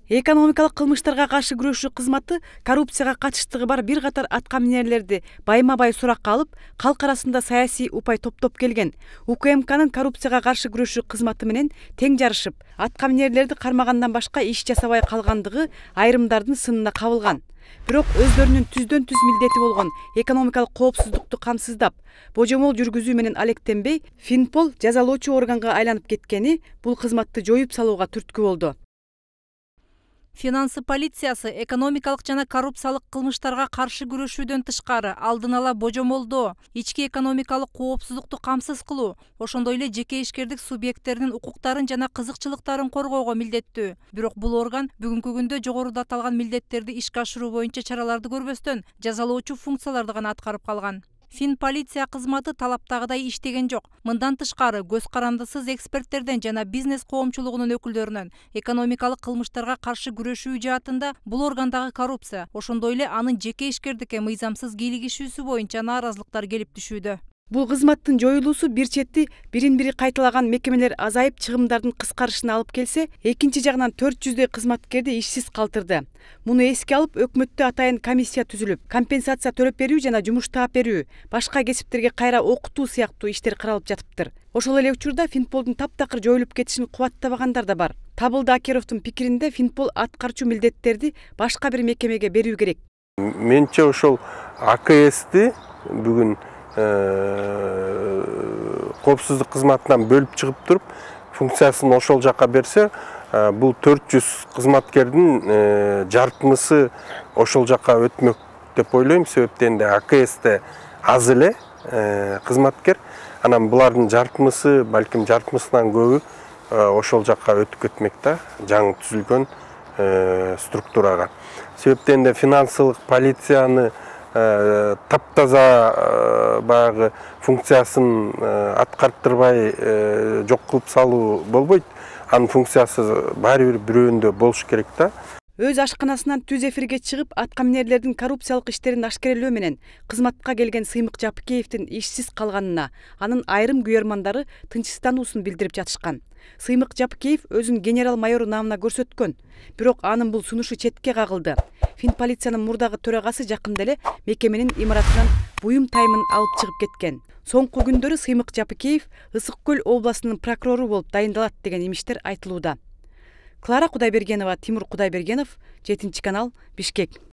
Экономикалык кылмыштарга каршы күрөшүү кызматы коррупцияга катыштыгы бар бир катар аткаминерлерди байма-бай суракка алып, калк арасында саясий упай топтоп келген. УКМКнын коррупцияга каршы күрөшүү кызматы менен тең жарышып, аткаминерлерди кармагандан башка иш жасабай калгандыгы айрымдардын сынына кабылган. Бирок өздөрүнүн түздөн түз милдети болгон экономикалык коопсуздукту камсыздап, божомол жүргүзүү менен алектенбей, Финпол жазалоочу органга айланып кеткени бул кызматты жоюп салууга түрткү болду. Финансы полициясы экономикалык жана коррупциялык кылмыштарга каршы күрөшүүдөн тышкары алдын ала божомолдоо, ички экономикалык коопсуздукту камсыз кылуу, ошондой эле жеке ишкердик субъекттеринин укуктарын жана кызыкчылыктарын коргоого милдеттүү. Бирок бул орган бүгүнкү күндө жогоруда аталган милдеттерди ишке ашыруу боюнча чараларды көрбөстөн, жазалоочу функцияларды гана аткарып калган. Финполиция кызматы талаптагыдай иштеген жок. Мындан тышкары көз карандысыз эксперттерден жана бизнес коомчулугунун өкүлдөрүнөн экономикалык кылмыштарга каршы күрөшүү жаатында бул органдагы коррупция, ошондой эле анын жеке ишкердикке мыйзамсыз кийлигишүүсү боюнча нааразылыктар келип түшүүдө. Бул кызматтын жоюлуусу бир чети бирин-бири кайталаган мекемелер азайып, чыгымдардын кыскарышына алып келсе, экинчи жагынан 400дөй кызматкерди ишсиз калтырды. Муну эске алып, өкмөттө атайын комиссия түзүлүп, компенсация төлөп берүү жана жумуш таап берүү, башка кесиптерге кайра окутуу сыяктуу иштер каралып жатыптыр. Ошол эле учурда Финполдун таптакыр жоюлуп кетишин кубаттабагандар да бар. Табылды Акеровдун пикиринде Финпол аткарчу милдеттерди башка бир мекемеге берүү керек. Менче ошол АКСти бүгүн коопсуздук кызматынан бөлүп чыгып туруп, функциясын ошол жака берсе, бул 400 кызматкердин жартымысы ошол жака өтмөк деп ойлойм. Себептен де АКСте аз эле кызматкер, анан булардын жартымысы, балким жартымысынан көбү ошол жака өтүп кетмек да, жаңы түзүлгөн структурага. Себептен де финансылык полицияны таптаза баягы функциясын аткарттырбай жок кылып салуу болбойт. Анын функциясы баары бир бирөөндө болуш керек да. Өз ашканасынан түз эфирге чыгып, аткаминерлердин коррупциялык иштерин ашкерелөө менен кызматка келген Сыймык Жапыкеевдин ишсиз калганына анын айрым күйөрмандары тынчсыздануусун билдирип жатышкан. Сыймык Жапыкеев өзүн генерал-майор наамына көрсөткөн, бирок анын бул сунушу четке кагылды. Финполициянын мурдагы төрагасы жакында эле мекеменин имаратынан буюм таймын алып чыгып кеткен. Соңку күндөрү Сыймык Жапыкеев Ысык Көл областынын прокурору болуп дайындалат деген имиштер айтылууда. Клара Кудайбергенова, Тимур Кудайбергенов, 7 канал, Бишкек.